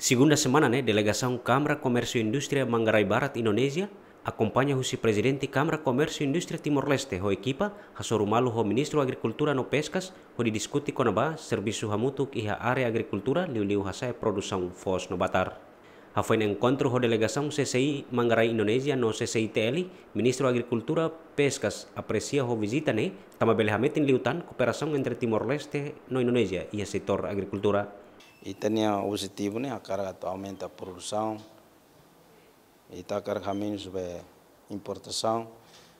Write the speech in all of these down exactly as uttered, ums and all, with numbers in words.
Segunda semana ne'e, delegasaun Kámara Komérsiu Indústria Manggarai Barat, Indonézia, akompaña husi Prezidente Kámara Komérsiu Indústria Timor-Leste ho ekipa, hasoru malu ho Ministru Agrikultura no Peskas, hodi diskute kona-ba servisu hamutuk iha área agrikultura, liuliu hasa'e produsaun foos no batar. Hafoin enkontru ho delegasaun C C I Manggarai Indonézia no C C I T L, Ministru Agrikultura, Peskas apresia ho vizita ne'e, tanba bele hametin liután kooperasaun entre Timor-Leste no Indonézia iha setór agrikultura. Ita-nia objetivu ne'e hakarak atu aumenta produsaun, ita hakarak hamenus ba importasaun,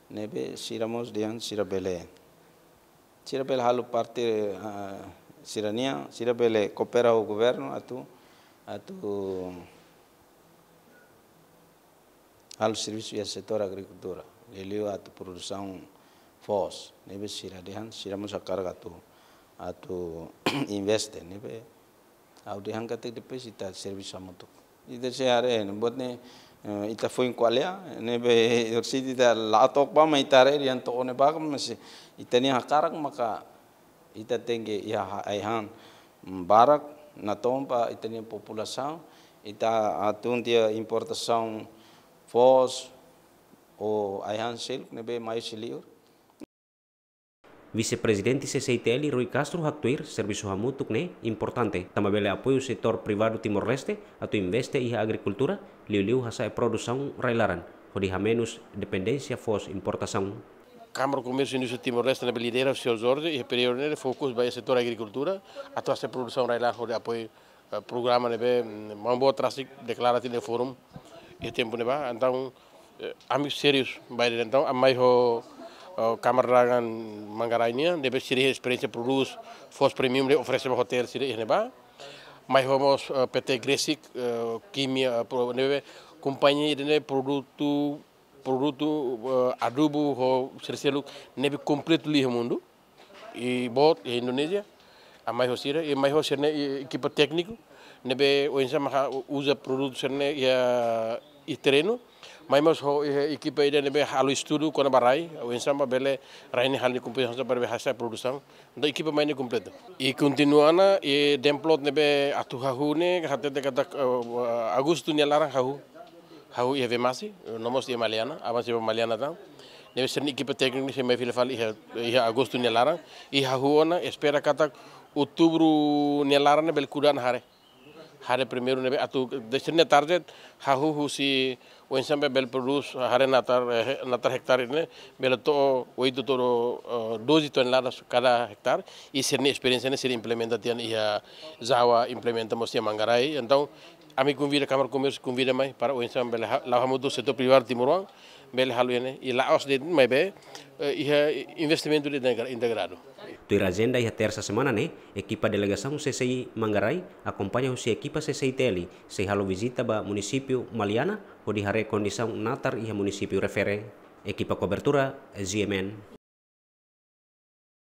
ne'ebé sira mós dehan sira bele, sira bele halo parte, ah, sira-nian, sira bele koopera ho governu atu, atu halo servisu iha setór agrikultura, liuliu atu produsaun foos, ne'ebé sira dehan, sira mós hakarak atu, atu investe, ne'ebé ha'u dehan katak depois ita servisu hamutuk. Ita sei haree, ne'e buat ne'e, eh, ita foin ko'alia, ne'ebé orsida ita la to'o ba, maibé ita haree dehan to'o ne'ebá, mas ita-nia hakarak maka ita tenke iha ha-, ai-han, mm, barak, natoon ba ita-nia populasaun, ita hatun tiha importasaun foos, ou ai-han seluk ne'ebé mai husi liur. Vise-Prezidente C C I T L Rui Castro haktuir, servisu hamutuk ne'e importante, tanba bele apoiu setór privadu Timor-Leste atu investe iha agrikultura, liuliu hasa'e produsaun rai-laran, hodi hamenus dependénsia foos importasaun. Kámara Komérsiu Indústria Timor-Leste ne'ebé lidera Señór Jorge, iha períodu ne'e fokus ba setór agrikultura, atu hasa'e produsaun rai-laran hodi apoiu, eh, programa ne'ebé, mm, Maun Boot rasik deklara tiha iha fórum iha tempu ne'ebá. Entaun, eh, ami sériu ba ida-ne'e. Entaun, ami mai ho, eh, Kámara Dagang Manggarai nian, ne'ebé sira iha esperiénsia produz foos premium ne'ebé oferese ba hotel sira iha ne'ebá. Mai ho mós, eh, P T Gresik, eh, kimia, eh, pro-, ne'ebé kompañia ida ne'ebé produtu, produtu, eh, adubu ho sira seluk ne'ebé kompletu liu iha mundu. I boot iha Indonézia, ami mai ho sira, i mai ho sira-nia, i, ekipa tékniku, ne'ebé oinsá mak uza produtu sira-ne'e iha, iha terrenu, mai mós ho, i, ekipa ida ne'ebé halo estudu kona-ba rai, oinsá mak bele rai ne'e halo nia kompensasaun para bele hasa'e produsaun. Entaun ekipa mai ne'e kompletu. I kontinua ona, i demplot ne'ebé atu hahú ne'e, hatete katak, eh, Agostu nia laran hahú. Hahú iha Vemasse, no mós iha Maliana, avansa ba Maliana tan. Ne'ebé sira-nia ekipa tékniku sei mai fila fali iha, iha Agostu nia laran. I hahú ona, espera katak Outubru nia laran ne'e bele kuda ona haree. Haree primeiru ne'ebé atu, dehan sira-nia target, hahú husi oinsá mak bele produz haree natar, eh, natar hektare ne'e, bele to'o oito to'o, eh, doze toneladas kada hektare. I sira-nia esperiénsia ne'e sira implementa tiha ona iha Jawa, implementa mós iha Manggarai. Entaun, ami konvida, Kámara Komérsiu konvida mai para oinsá bele ha-, la'o hamutuk setór privadu timoroan, bele halo ne'e, i la'ós de'it maibé, eh, iha investimentu de integra-, integradu. Tuir ajenda iha tersa semana ne'e, ekipa delegasaun C C I Manggarai, akompaña husi ekipa C C I T L, sei halo vizita ba munisípiu Maliana, hodi haree kondisaun natar iha munisípiu refere. Ekipa kobertura, G M N.